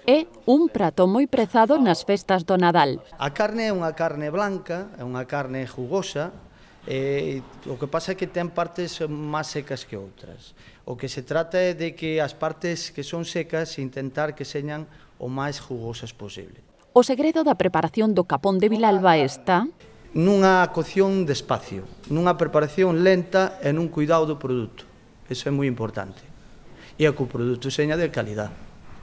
É un prato moi prezado nas festas do Nadal. A carne é unha carne blanca, é unha carne jugosa, o que pasa é que ten partes máis secas que outras. O que se trata é de que as partes que son secas intentar que señan o máis jugosas posible. O segredo da preparación do capón de Vilalba está nunha cocción despacio, nunha preparación lenta e nun cuidado do produto. Iso é moi importante. E é que o produto seña de calidad,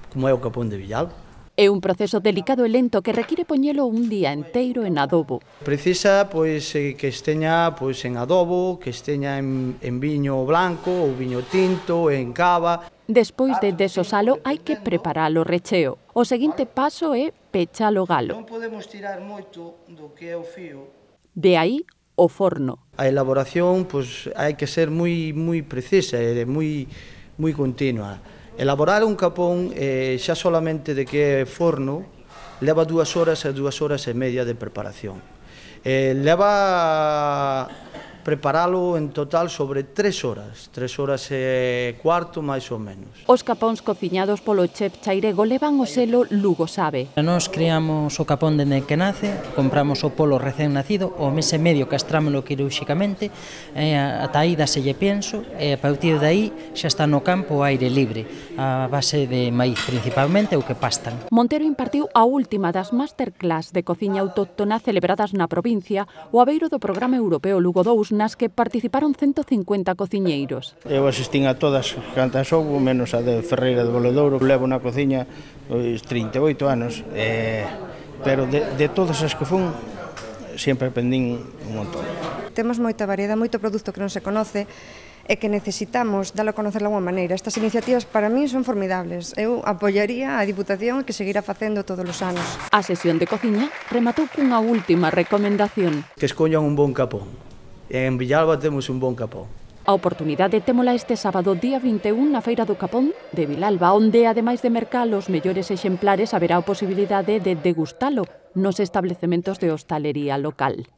como é o capón de Villalba. É un proceso delicado e lento que require poñelo un día enteiro en adobo. Precisa que esteña en adobo, que esteña en viño blanco ou viño tinto, en cava. Despois de desosalo, hai que preparar o recheo. O seguinte paso é pechar o galo. Non podemos tirar moito do que é o fío. De aí o forno. A elaboración hai que ser moi precisa e moi continua. Elaborar un capón xa solamente de que é forno leva 2 horas e 2 horas e media de preparación. Leva preparalo en total sobre 3 horas e cuarto máis ou menos. Os capóns cociñados polo chef chairego levan o selo Lugo Sabe. Nós criamos o capón dende que nace, compramos o polo recén nacido, o mes e medio castrámolo quirúrxicamente, ata aí daselle pienso, e a partir de aí xa está no campo ao aire libre, a base de maíz principalmente ou que pastan. Montero impartiu a última das masterclass de cociña autóctona celebradas na provincia o abeiro do programa europeo Lugo 2, nas que participaron 150 cociñeiros. Eu asistín a todas cantas houbo, menos a de Ferreira de Boledouro. Levo na cociña 38 anos, pero de todas as que fun, sempre aprendín un montón. Temos moita variedade, moito produto que non se conoce e que necesitamos dalo a conocer de alguma maneira. Estas iniciativas para mí son formidables. Eu apoiaría a Diputación que seguirá facendo todos os anos. A sesión de cociña rematou cunha última recomendación. Que escollan un bon capón. En Villalba temos un bon capón. A oportunidade témola este sábado día 21 na Feira do Capón de Vilalba, onde, ademais de mercar os mellores exemplares, haberá a posibilidade de degustalo nos establecementos de hostalería local.